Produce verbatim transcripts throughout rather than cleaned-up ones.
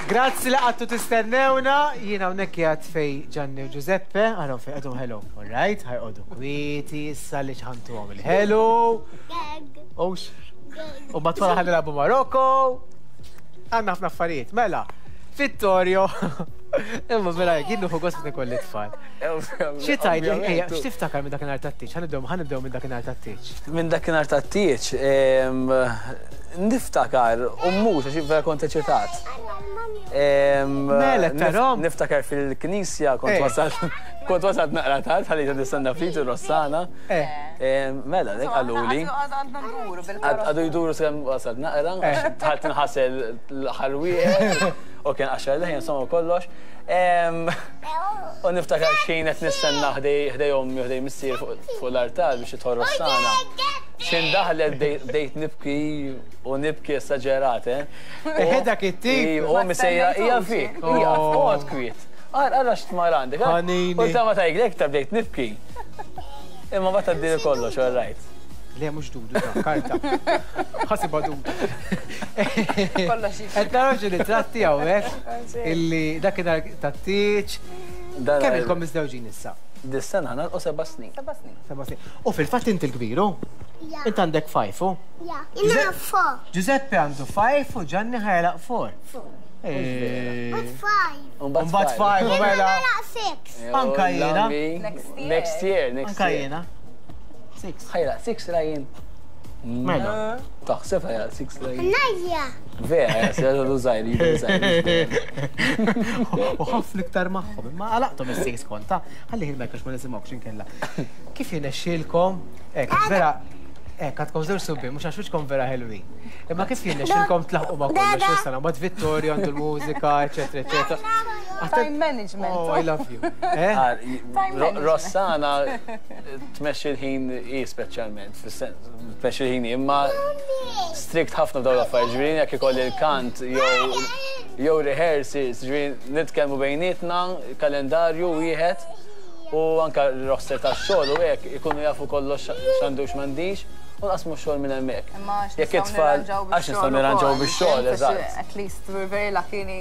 Grazzi li qgħadtu tistennewna, jiena hawnhekk qiegħed fejn Gianni u Giuseppe, għarhom fejn għadhom hello, all right, ħa joqogħdu kwieti issa li ħantuhom il-hello. Ux. U matwala ħa nilagħbu Marokko. Għandna ħafna affarijiet, mela, Vittorio. Imma vera, jien nieħu gost ikolli tfal. Xi tgħidli, ejja, x'tiftakar minn dakinhar tat-tieġ? Ħa nibdew ħa nibdew minn dakinhar tat-tieġ. Minn dakinhar tat-tieġ, niftakar, u mhux għax vera kont eċitat. Mela, tarom? Niftakar fil-knisja, kont wasalt kont wasalt naqra tard, ħalli nistenna ftit Rossana. Mela, dik qaluli. Għadu jduru sakemm wasalt naqra, dħalt nħasel l-ħarwieħ, u kien għaxar leħ, insomma kollox. U niftakar xejn qed nistenna ħdej ommi u ħdej missier fuq l-artal biex tidħol Rossana. Xejn daħlet bdejt nibki u nibki esaġerat, eh? Dak it-tip. U ommi sejra hija fik, hija oqgħod kwiet. Ara x'tmar għandek. U ta' ma tgħidlek ta' bdejt nibki. Imma ma tgħaddili kollox, all right. Le, mhux dudu, da, karta. Ħasiba dudu. Qed naraw xi ritratti hawnhekk illi dakinhar tat-tieġ. Kemm ilkom miżżewġin issa? Dis-sena nagħlqu seba' snin. Seba' snin. Seba' snin. U fil-fatt inti l-kbiru? Int għandek five, u? Ja, jiena four. Giuseppe għandu five u Gianni ħa jagħlaq four. Four. But five. Mbagħad five, u mela. Jiena six. Anka jiena. Next year. Next year, next Anka year. jiena. Six. Ħa jagħlaq six Ryan. Mela. Taħseb ħa jagħlaq six Ryan. Najja. Vera, jasir għadu żgħir, jidu żgħir. U ħafna iktar magħhom, imma għalaqthom is-six konta. Ħalli il-mic ma nisimgħux inkella. Kif jirnexxielkom? Hekk, vera, hekk għandkom żewġ subien, mhux għax wiċċkom vera ħelwin. Imma kif jirnexxielkom tlaħqu ma' kollox issa mbagħad Vittorio għandu l-mużika, eċetera, eċetera. Time management. Oh, I love you. Eh? management. Rossana tmexxi l-ħin i speċjalment, fis-sens, tmexxi l-ħin imma strict ħafna f'dawn l-affarijiet, ġifieri jekk ikolli l-kant jew jew rehearsals, ġifieri nitkellmu bejnietna, kalendarju wieħed u anka r-roster tax-xogħol u hekk ikunu jafu kollox x'għandu x'm'għandix u nqasmu x-xogħol minn hemmhekk. Imma għax Jekk nistgħu it-tfal nirranġaw għax nistgħu nirranġaw bix-xogħol, eżatt. At least we're very lucky li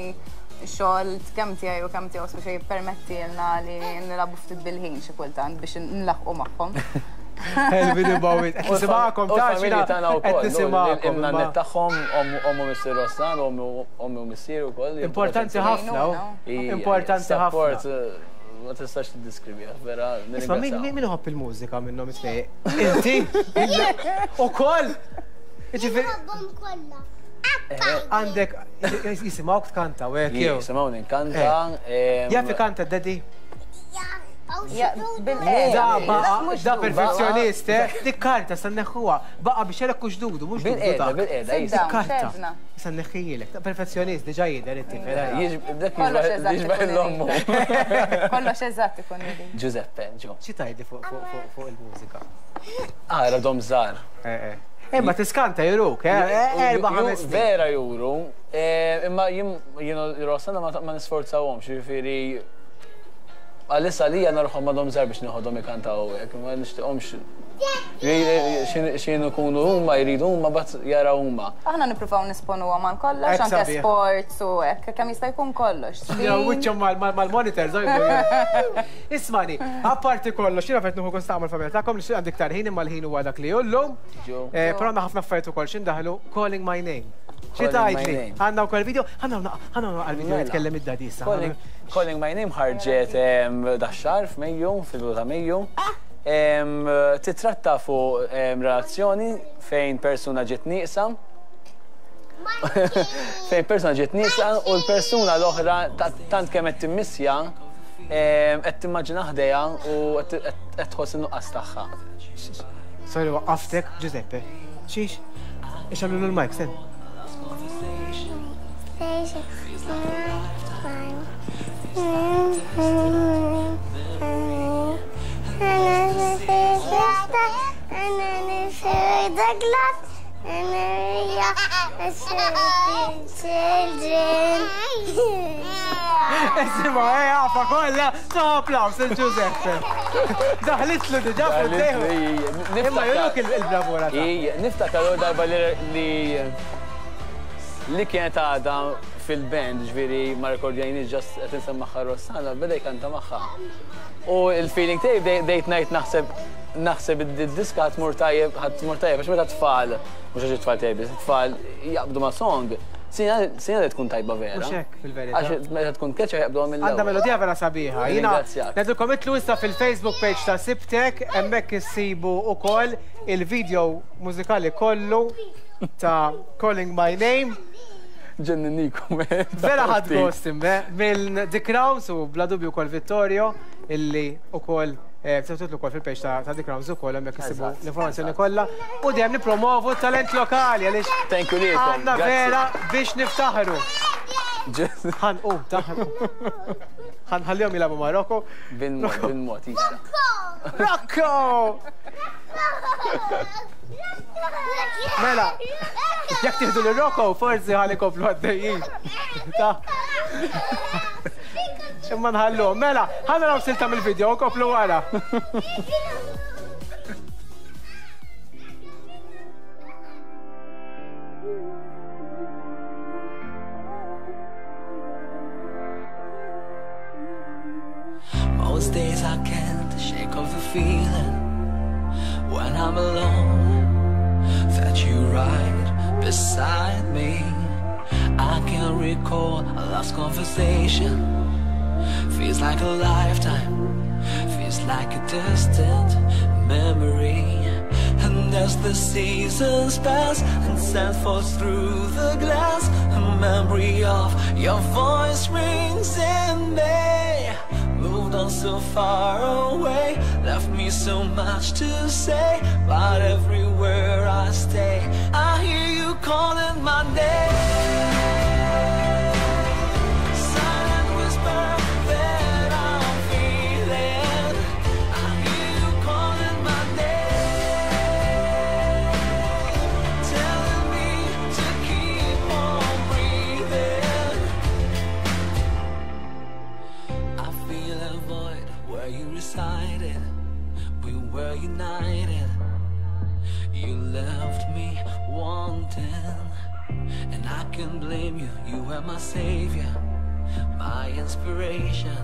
x-xogħol kemm tiegħi u kemm tiegħu speċi jippermettilna li nilagħbu ftit bil-ħin xi kultant biex nlaħqu magħhom. Ħelwin bawit. Qed nisimgħakom U ta' l-familji tagħna qed wkoll, nisimgħakom. in-nanniet imma tagħhom, ommu missier Rossan, ommu u missier ukoll. Importanti ħafna, u. Importanti Support ħafna. eh, ma tistax tiddiskriviha, vera. Isma' min nirringrazzjaw. min min iħobb il-mużika minnhom it-tnejn? Inti? U koll? Ġifieri Nħobbhom kollha. għandek jisimgħuk tkanta u hekk jew. Jisimgħuni nkanta. em, Jaf ikanta daddy? Ja, bil-qeda. Da baqa, Mhux da dudu. perfezzjonist, eh? Dik karta sa neħħuha, baqa biex jelek hux dudu, mhux dudu Bil-qeda, dak. bil-qeda, Sit down, Karta. xedna. Sa neħħijilek, da perfezzjonist diġà jidher it-tifel. eh. Jiġ- Dak Kollox jiġbah eżatt jiġbah ikun l-ommu. Kollox eżatt ikun irid. Giuseppe, ġo. Xi tgħidli fuq fuq fuq fuq il-mużika? Ara dom żgħar. Eh, eh. Imma tiskanta juruk, eh? eh, Erba' Ju- ħames snin. Vera juru, eh, imma jien jien Rossana ma ma nisforzawhomx, jiġifieri għalissa li jena ruħom madhom żgħar biex nieħodhom ikantaw hekk, ma nixtieqhomx x'in ikunu huma jridu huma bat jaraw huma. Aħna nippruvaw nisponuhom għal kollox, Hekk anke sabiħ. sports u hekk, kemm jista' jkun kollox. Ja, wiċċhom mal-monitor, żgħir. Ismani, apparti kollox, jiena fet nieħu gost tagħmel familja tagħkom li għandi iktar ħin imma l-ħin huwa dak li jullum. Ġo. Eh, Però għandna ħafna affarijiet ukoll x'indaħlu Calling My Name. Xi Calling My tgħidli? Name. Għandna wkoll video, ħanna ħanna għal-video Mela. jitkellem id-daddy issa. Calling, Calling My Name ħarġet em, dax-xahar f'Mejju, fil-bidu ta' Mejju. Em, Titratta fuq em, relazzjoni fejn persuna ġiet nieqsa, fejn persuna ġiet nieqsa u l-persuna l-oħra ta- tant kemm qed timmissja em, qed timmaġina ħdejha u qed qed tħoss in-nuqqas tagħha. Sorry, waqqaftek, Giuseppe. Xiex? Ix għamlu l-mic, sen. Children. Isma, eh, għafa kolla, ta' applaus il-Giuseppe. Daħlitlu diġà fuq dejjem. Imma juruk il-bravura ta' Ija, niftakar darba li li li kienet għadha fil-band, ġifieri ma rekordjajniex just qed insemmaħħa Rossana, beda jkanta magħha. U il-feeling tiegħi bdejt ngħid naħseb naħseb id-diska ħa tmur tajjeb, ħa tmur tajjeb, għax meta tfal, mhux għax it-tfal tajjeb, it-tfal jaqbdu ma' song, sinjal li tkun tajba vera. Mhux hekk fil-verità. Għax meta tkun catchy jaqbdu mill Għandha melodija vera sabiħa. Jiena Ringrazzjak. ngħidilkom itilgħu issa fil-Facebook page ta' Sibtek, hemmhekk issibu ukoll il-video mużikali kollu ta' Calling My Name. Ġenninnikom. Vera ħadt gost imme, minn The Crowns u bla dubju kol Vittorio, illi ukoll tistgħu ukoll fil-page ta' ta' The Crowns ukoll hemmhekk issibu Eżatt, l-informazzjoni eżatt. kollha. U dejjem nippromovu talent lokali għaliex Thank you lilkom. għandna Grazzi. vera biex niftaħru. Ħan u taħru. Ħanħallihom jilagħbu ma' Rocco. Bil-mod, bil-mod, issa. Rocco! Mela, jekk tieħdu lil Rocco, forsi ħalli komplu għaddejjin. Ta' Imma nħallu. Mela, ħa naraw silta mill-video, u komplu wara. Most days I can't shake off the feeling when I'm alone that you right beside me. I can recall our last conversation. Feels like a lifetime, feels like a distant memory. And as the seasons pass and sand falls through the glass, a memory of your voice rings in me. Moved on so far away, left me so much to say, but everywhere I stay, I hear you calling my name. Silent whisper that I'm feeling. I hear you calling my name, telling me to keep on breathing. I feel a void where you resided. We were united. You left me wanting, and I can blame you. You were my savior, my inspiration.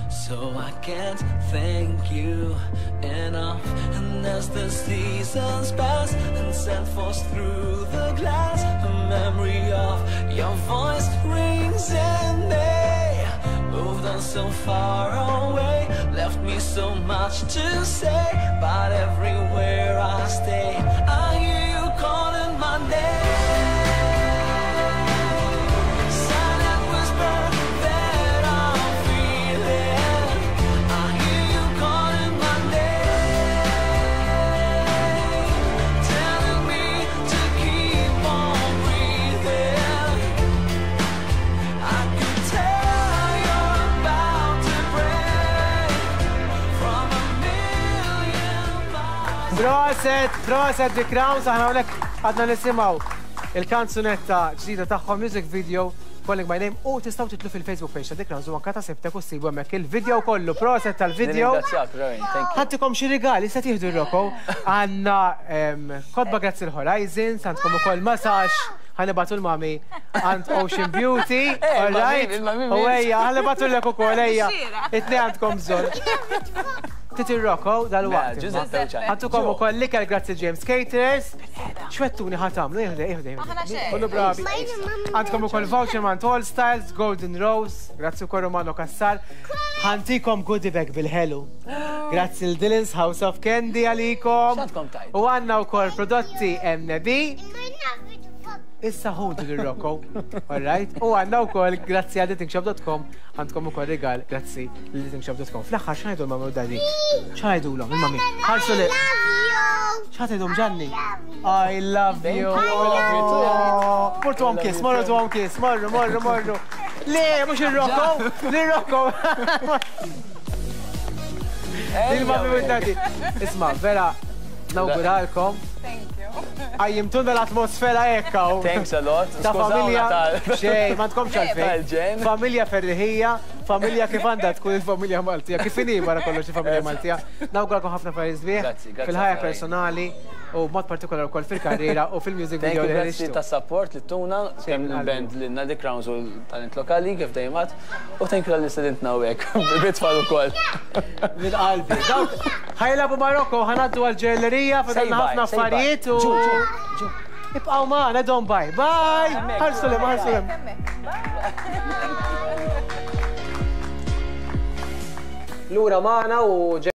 So I can't thank you enough. And as the seasons pass and sand falls through the glass, a memory of your voice rings in me. Moved on so far away, left me so much to say, but everywhere I stay, I hear you calling my name. Silent whisper that I'm feeling. I hear you calling my name, telling me to keep on breathing. I can tell you're about to break from a million miles. Proset, proset The Crowns, aħna hawnhekk għadna nisimgħu il-kanzunetta ġdida tagħhom music video Calling My Name u tistgħu titilgħu fil-Facebook page ta' The Crowns u anka ta' Sibtek u ssibu hemmhekk il-video kollu. Proset tal-video. Ringrazzjak, Ryan, thank you. Ħa ntikom xi rigali, se tieħdu r-Rocco. Għandna em, kotba grazzi l-Horizons, għandkom ukoll massage, ħa nibagħtu l-mami għand Ocean Beauty, Eh, all right? il-mami U ejja, ħa nibagħtu l ukoll, ejja. It-tnejn għandkom bżonn. Titi Rocco, dal-waqt. Mela, Giuseppe u ċan. Ħa ntukom ukoll l-ikel grazzi James Caterers. X'wegħedtuni ħa tagħmlu, ieħde, ieħde, Aħna ieħde. xejn. Kullu bravi. Għandkom ukoll voucher minn All Styles, Golden Rose, grazzi ukoll Romano Cassar. Ħa ntikom goodie bag bil-ħelu. Grazzi l-Dylan's House of Candy għalikom. X'għandkom tajt? U għandna wkoll prodotti M B. Issa ħudu l-Rocco, all right? U għandna wkoll grazzi għal datingshop dot com, għandkom ukoll rigal grazzi l datingshop dot com. Fl-aħħar x'ngħidu l-mami u daddy? X'ngħidulhom il-mami? Ħarsu li. X'għidulhom Ġanni? I love you. I love you too. Mortu għom kiss, morru għom kiss, morru, morru, morru. Le, mhux il-Rocco, l-Rocco. Il-mami u daddy. Isma, vera, nawguralkom. Thank you. Għajjimtuna l-atmosfera ekkaw. Thanks a lot. Ta' Skużawna familja. tal- Xej, ma tkomx għalfejn. Tal-ġen. Familja ferriħija, Familja kif għandha tkun il-familja Maltija, kif inhi wara kollox il-familja Maltija. Nawguralkom ħafna affarijiet sbieħ fil-ħajja personali u mod partikolari wkoll fil-karriera u fil-music video li Grazzi tas-support li tuna, kemm il-band li Nadi Crowns u l-talent lokali kif dejjem għad, u thank you għal istedintna hawnhekk, bit-tfal ukoll. Minn qalbi. Ħa jilagħbu Marokko, ħa ngħaddu għall-ġellerija, fadalna ħafna affarijiet u. Ibqgħu magħna, don't bye. Bye! Ħarsu lem, ħarsu lem. Lura magħna u